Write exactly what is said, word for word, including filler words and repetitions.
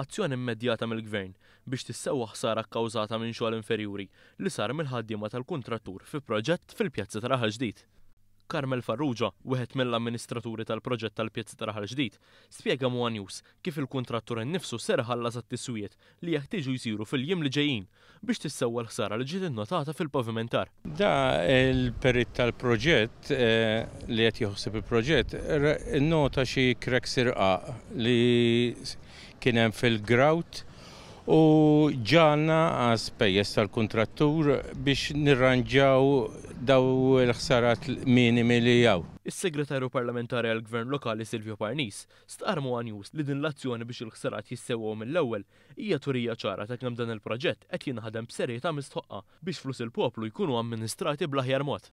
azzjoni immedjata mill-Gvern biex tissewwa ħsara kkawżata minn xogħol inferjuri li sar mill-ħaddiema tal-kuntrattur fi proġett fil-Pjazza ta' Raħal Ġdid. Carmel Farrugia, wieħed mill-amministraturi tal-proġett tal-Pjazza ta' Raħal Ġdid, spjega ma' One News kif il-kuntrattur innifsu ser iħallas għat-tiswijiet li jeħtieġu jsiru fil-jiem li ġejjin biex tissewwa l-ħsara li ġiet innotata fil-pavimentar. Da il-perit tal-proġett eh, li qed jaħseb il-proġett innota xi cracks irqaq li kien hemm fil-grout u ġana għas-spejjeż tal-kuntrattur biex nirranġaw daw il-ħsarat minimi li hawn. Is-Segretarju Parlamentari għall-Gvern Lokali Silvio Parnis stqarr ma' One News li din l-azzjoni biex il-ħsarat jissewwew mill-ewwel hija turija ċara ta' kemm dan il-proġett qed jinħadem b'serjetà mistħoqqa biex flus il-poplu jkunu amministrati bl-aħjar mod.